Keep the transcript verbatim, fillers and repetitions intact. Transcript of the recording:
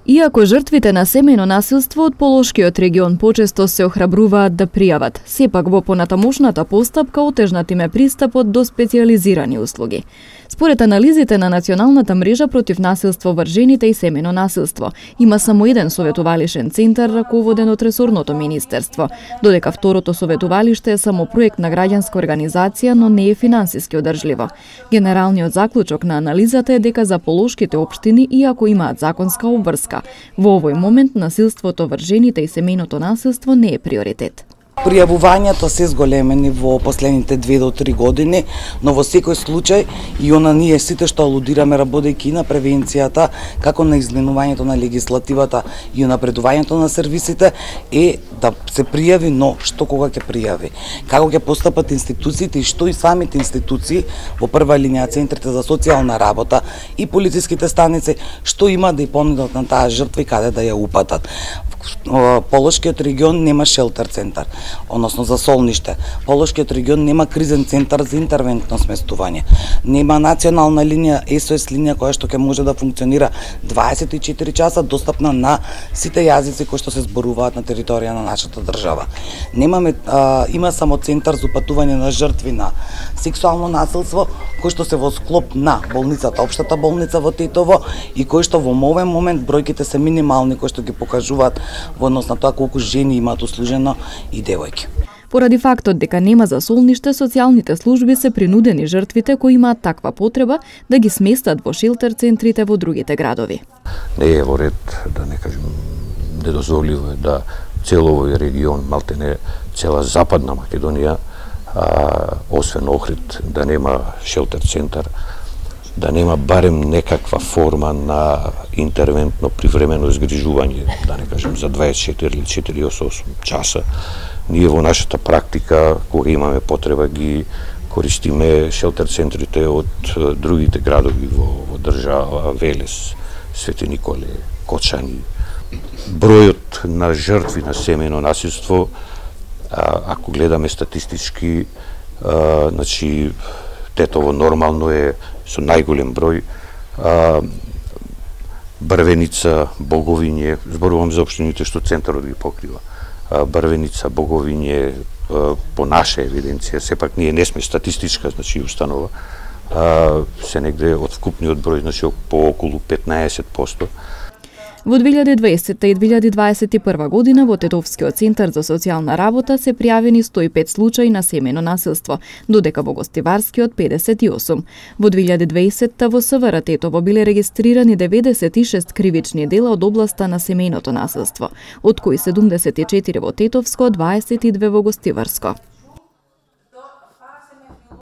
Иако жртвите на семејно насилство од Полошкиот регион почесто се охрабруваат да пријават, сепак во понатамошната постапка отежнат им е пристапот до специјализирани услуги. Според анализите на Националната мрежа против насилство врз жените и семејно насилство, има само еден советувалишен центар раководен од ресорното министерство, додека второто советувалиште е само проект на граѓанска организација, но не е финансиски одржливо. Генералниот заклучок на анализата е дека за полошките општини, иако имаат законска обврска, во овој момент насилството врз жените и семејното насилство не е приоритет. Пријавувањето се зголемени во последните две до три години, но во секој случај и она ние сите што алудираме работејќи на превенцијата, како на изменувањето на легислативата и напредувањето на сервисите е да се пријави, но што кога ќе пријави, како ќе постапат институциите и што и самите институции во прва линија центрите за социјална работа и полициските станици што има да ја понудат на таа жртва и каде да ја упатат. Полошкиот регион нема шелтер центар, односно за солниште. Полошкиот регион нема кризен центар за интервентно сместување. Нема национална линија, ес о ес линија која што ќе може да функционира дваесет и четири часа достапна на сите јазици кои што се зборуваат на територија на нашата држава. Немаме а, има само центар за упатување на жртви на сексуално насилство кој што се во склоп на болницата, општата болница во Тетово и кој што во овој момент бројките се минимални кои што ги покажуваат во однос на тоа колку жени имаат услужено и девојки. Поради фактот дека нема за солниште, социјалните служби се принудени жртвите кои имаат таква потреба да ги сместат во шелтер центрите во другите градови. Не е во ред, да не кажем, недозволиво е да цел овој регион, малтене цела Западна Македонија, а, освен Охрид, да нема шелтер центар, да нема барем некаква форма на интервентно привремено згрижување, да не кажем за дваесет и четири или четириесет и осум часа. Ние во нашата практика, кога имаме потреба, ги користиме шелтер центрите од другите градови во, во држава, Велес, Свети Николе, Кочани. Бројот на жртви на семејно насилство, а, ако гледаме статистички, а, значи, Тетово нормално е со најголем број, а, Брвеница, Боговиње, зборувам за општините што центарот ги покрива, а, Брвеница, Боговиње, а, по наша евиденција, сепак ние не сме статистичка, значи установа, а, се негде од вкупниот број, значи по околу петнаесет проценти. Во две илјади и дваесетта и две илјади дваесет и прва година во Тетовскиот центар за социјална работа се пријавени сто и пет случаи на семејно насилство, додека во Гостиварскиот педесет и осум. Во две илјади дваесетта во С В Р Тетово биле регистрирани деветдесет и шест кривични дела од областа на семејното насилство, од кои седумдесет и четири во Тетовско, дваесет и две во Гостиварско.